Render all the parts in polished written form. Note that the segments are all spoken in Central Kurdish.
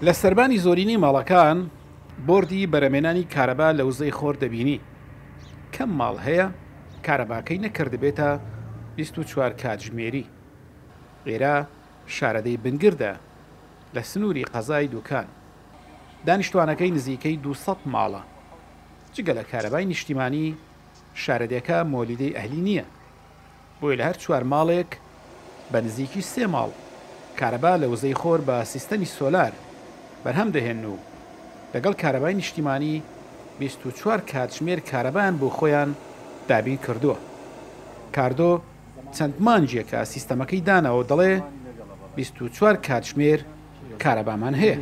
لە سەربانی زۆرینەی ماڵەکان بۆردی بەرەمێنانی کارەبا لە وزەی خۆر دەبینی. کەم ماڵ هەیە کارەباکەی نەکردبێتە 24 کاتژمێری. ئێرە شارەدێی بنگردە لە سنووری قەزای دوکان. دانیشتوانەکەی نزیکەی 200 ماڵە. جگە لە کارەبای نیشتیمانی، شارەدێکە مۆلیدەی ئەهلی نییە. بۆیە لە هەر چوار ماڵێک بە نزیکی سێ ماڵ کارەبا لە وزەی خۆر بە سیستەمی سۆلار بەرهەم دەهێنن و لەگەڵ کارەبای نیشتیمانی 24 کاتژمێر کارەبایان بۆ خۆیان دابین کردووە. کاردۆ چەند مانگێکە سیستەمەکەی داناوە و دەڵێ 24 کاتژمێر کارەبامان هەیە.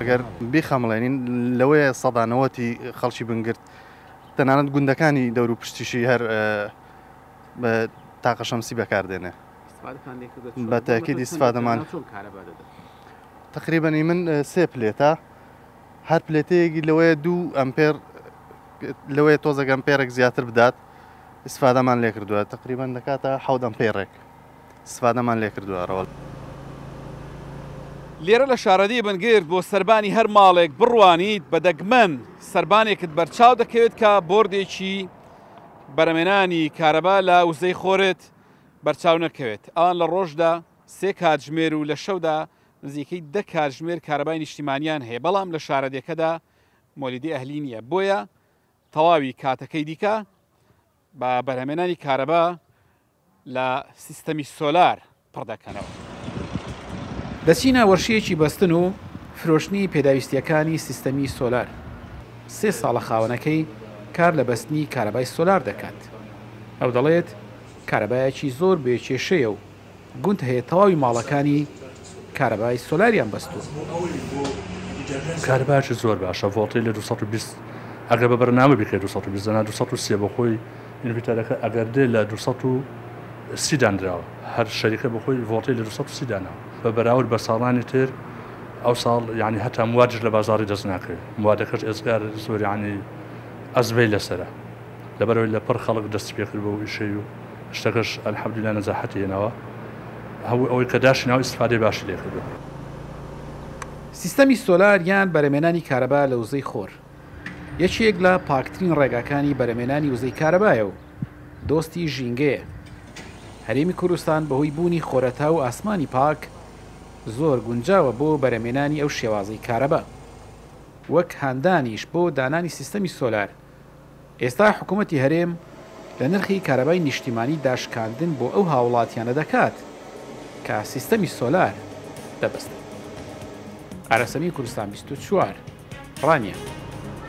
ئەگەر بیخەمڵێنین لەوەیە سەدا نەوەتی خەڵکی بنگرت تەنانەت گوندەکانی دەور و پشتیشی هەر بە تاقە شەمسی بەکاردێنێ بە تاکیدی استفادەمان تقریبا من سێ پلێتە هەر پلێتەیەکی لەوەیە دوو ئەمپێر لەوەیە تۆزێک ئەمپێرێک زیاتر بدات استفادەمان لێ کردووە تقریبا دەکاتە حەوت ئەمپێرێک استفادەمان لێ کردووە ڕەوەڵ. لێرە لە شارەدێی بنگرد بۆ سەربانی هەر ماڵێک بڕوانیت بە دەگمەن سەربانێکت بەرچاو دەکەوێت کە بۆردێکی بەرەمێنانی کارەبا لە وزەی خۆرت بەرچاو نەکەوێت. ئەوان لە ڕۆژدا سێ کاتژمێر و لە شەودا نزیکەی دە کاتژمێر کارەبای نیشتیمانیان هەیە، بەڵام لە شارەدێکەدا مۆلیدەی ئەهلی نییە، بۆیە تەواوی کاتەکەی دیکە بە بەرهەمێنانی کارەبا لە سیستەمی سۆلار پڕ دەکەنەوە. دەچینە وەرشەیەکی بەستن و فرۆشتنی پێداویستییەکانی سیستەمی سۆلار. سێ ساڵە خاوەنەکەی کار لە بەستنی کارەبای سۆلار دەکات. ئەو دەڵێت، کارەبایەکی زۆر بێ کێشەیە و گوند هەیە تەواوی ماڵەکانی کارەبای سۆلاریان بەستووە. کارەبایەکی زۆر باشە، ڤۆڵتەی لە 220 ئەگەر بە بەرنامە بیکەی 220 دەنا 203 بۆ خۆی ئینڤیتەرەکە ئەگەر دێ لە 230 دانراوە، هەر شەریکە بۆ خۆی ڤۆڵتەی لە 230 داناوە. بە بەراورد بە ساڵانی تر ئەو ساڵ یانی هەتا موادیش لە بازاڕی دەست ناکەوێ، موادەکەش ئێجگار زۆر یانی ئەزمەی لەسەرە. لەبەرئەوەی لەپڕ خەڵک دەستی پێکرد بەو ئیشەی و شتەکەش الحمدللە نەجاحەتی هێناوە هەموو ئەوەی کە داشی ناوە ئیستفادەی باشی لێ کردووە. سیستەمی سۆلار یان بەرەمێنانی کارەبا لە وزەی خۆر یەکێک لە پاکترین ڕێگاکانی بەرەمێنانی وزەی کارەبایە و دۆستی ژینگەیە. هەرێمی کوردستان بەهۆی بوونی خۆرەتاو و ئاسمانی پاک زۆر گونجاوە بۆ بەرەمێنانی ئەو شێوازەی کارەبا. وەک هاندانیش بۆ دانانی سیستەمی سۆلار ئێستا حکومەتی هەرێم لە نرخی کارەبای نیشتیمانی داشکاندن بۆ ئەو هاوڵاتیانە دەکات کە سیستەمی سۆلار دەبەستن. ئاراسەمی کوردستان 24، ڕانیە.